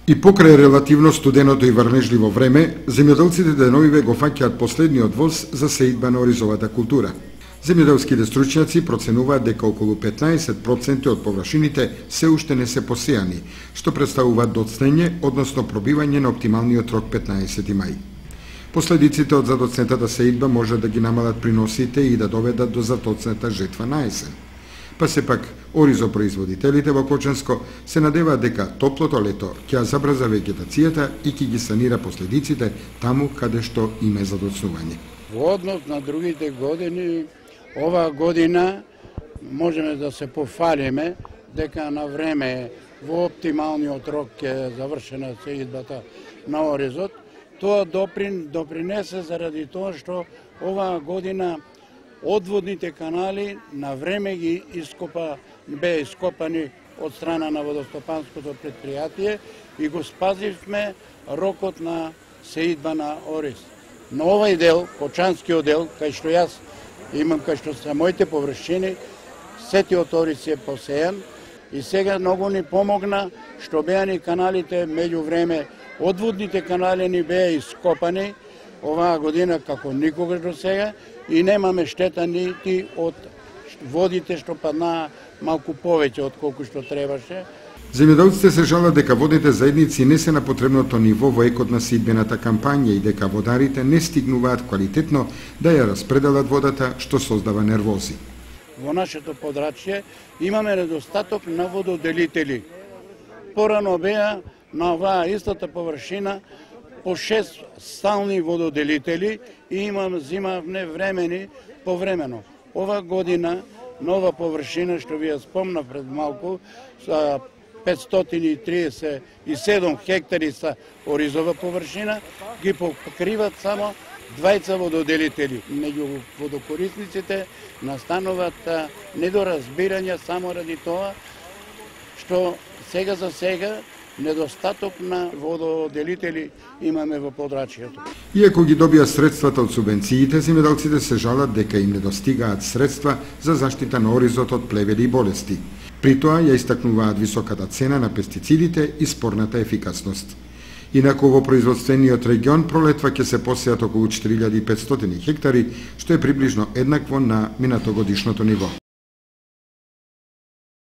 И покрај релативно студеното и врнежливо време, земјоделците деновиве го фаќаат последниот воз за сеидба на оризовата култура. Земјоделските стручњаци проценуваат дека околу 15% од површините се уште не се посејани, што представува доцнење, односно пробивање на оптималниот рок 15 мај. Последиците од задоцнетата сеидба може да ги намалат приносите и да доведат до затоцната жетва на есен. Па сепак, оризопроизводителите во Кочанско се надеваат дека топлото лето ќе забрза вегетацијата и ќе ги санира последиците таму каде што има задоцнување. Во однос на другите години, оваа година можеме да се пофалиме дека на време во оптималниот рок ќе завршена сеидбата на оризот. Тоа допринесе заради тоа што оваа година одводните канали на време ги беа ископани од страна на водостопанското предпријатие и го спазивме рокот на сеидба на ориз. На овај дел, Кочанскиот дел, кај што јас имам, кај што се моите површини, сетиот ориз е посејан и сега многу ни помогна што беа ни каналите меѓу време, одводните канали ни беа ископани оваа година како никогаш до сега и немаме штета нити од водите што паднаа малку повеќе од колку што требаше. Земјоделците се жалат дека водните заедници не се на потребното ниво во екот на сеидбената кампања и дека водарите не стигнуваат квалитетно да ја распределат водата, што создава нервози. Во нашето подрачје имаме недостаток на вододелители. Порано беа на оваа истата површина по 6 стални вододелители и зимавне времени повремено. Ова година нова површина, што ви ја спомнав пред малку, 537 хектари са оризова површина, ги покриват само 20 вододелители. Меѓу водокорисниците настануваат недоразбирања само ради тоа што сега за сега недостаток на вододелители имаме во подрачјето. Иако ги добија средствата од субвенциите, земјоделците се жалат дека им недостигаат средства за заштита на оризот од плевели и болести. При тоа ја истакнуваат високата цена на пестицидите и спорната ефикасност. Инаку во производствениот регион пролетва ќе се посеат околу 4500 хектари, што е приближно еднакво на минатогодишното ниво.